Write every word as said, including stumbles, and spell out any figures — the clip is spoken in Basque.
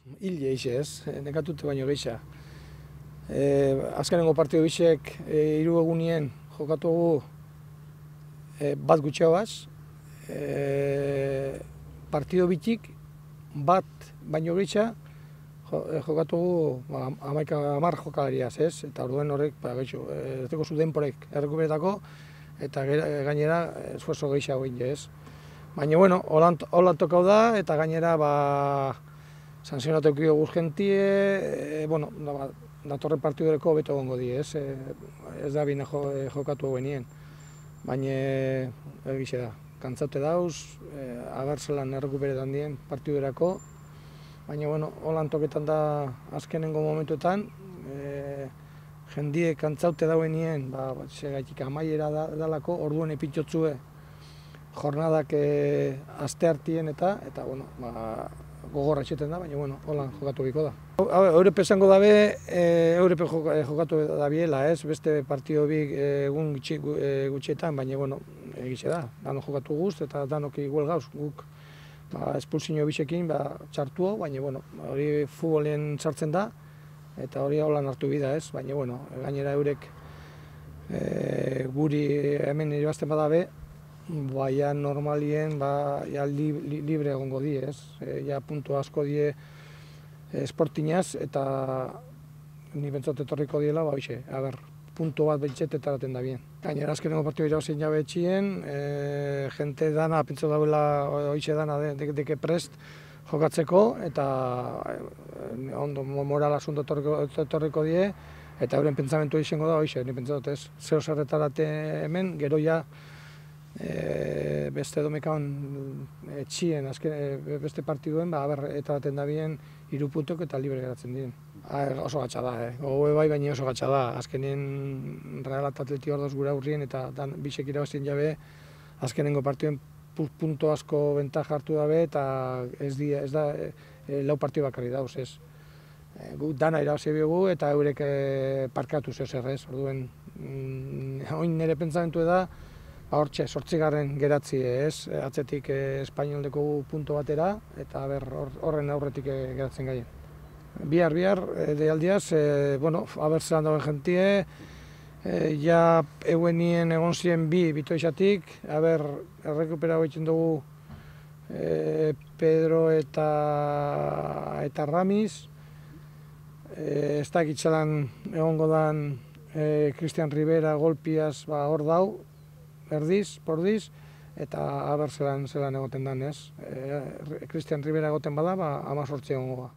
Hile eixe ez, nekatute baino geisha. E, azkenengo partidu bisek e, hiru egunien jokatugu e, bat gutxiagaz. E, partidu bitik bat baino geisha jokatugu ba, amaika hamar jokalariaz ez, eta orduen horrek ba, geixo, ez dugu zu denporek errekuperetako eta gainera esfuerzo gehiago egin ez. Baina, bueno, holan tokau da, eta gainera, ba, sanzionatu ekio guzkentie, e, bueno, da, datorren partidureko beto gongo di, ez, e, ez da bine jo, e, jokatu benien. Baina, egixe da, kantzaute dauz, e, agartzelan errekuperetan dien partidurako, baina, bueno, holan toketan da azkenengo momentuetan, e, jendie kantzaute dauenien, ba, segaitik amaiera da, dalako, orduen epitzotzue, jornadak e, aste hartien eta, eta bueno, ba, gogorra etxeten da, baina bueno, hola jokatu biko da. Eurep esango dabe, e, Eurep jokatu da biela, ez, beste partido bi egun gutxi, e, gutxietan, baina bueno, egize da, dano jokatu guzt eta danok igual gauz, guk ba, espulsio bisekin ba, txartuo, baina bueno, hori futbolen sartzen da, eta hori holan hartu bida, ez, baina bueno, gainera eurek e, guri hemen irabazten badabe, baina normalien ba, ja, li, li, libre egongo di, ez? E, ja, puntu asko die esportinaz, eta ni bentsot etorriko diela, ba, bixe, a ber, puntu bat bentsete etaraten da bien. Gainera, azkenengo partidu irabazien jabe etxien, e, jente dana, pentsa dauela, oixe dana, deke de, de prest jokatzeko, eta e, ondo moral asunto etorriko die, eta euren pentsamentu izango da, oixe, ni pentsa dut ez, zeo zerretarate hemen, gero ja, E, beste domekaun etxien, azken, e, beste partiduen, ba, aber, eta baten da bien, hiru puntok eta libre geratzen diren. A, oso gatsa da, eh? Gogoe bai, baina oso gatsa da. Azkenien Real eta Atleti ordoz gure aurrien eta dan, bisek irabazien jabe, azkenengo partiduen punto asko ventaja hartu dabe, eta ez, di, ez da e, e, lau partidu bakarri dauz, ez. E, gu dana irabazi biogu eta eurek e, parkatu zeu zer, ez. Orduen, mm, oin nire pentsamentu da, hortxe, sortzigarren geratzi ez, atzetik espainoldeko punto batera, eta horren aurretik geratzen gaien. Bihar, bihar, deialdiaz, e, bueno, abertzelan dagoen jentie, e, ja euenien egon ziren bi bitoizatik, aber, errekupera egiten dugu e, Pedro eta, eta Ramis, e, ez da egitzalan egongo dan e, Cristian Rivera golpiaz ba, hor dau, erdiz, pordiz, eta aber zelan, zelan egoten dan, ez. E, Cristian Rivera egoten bada, ba, amazortzi egongo ba.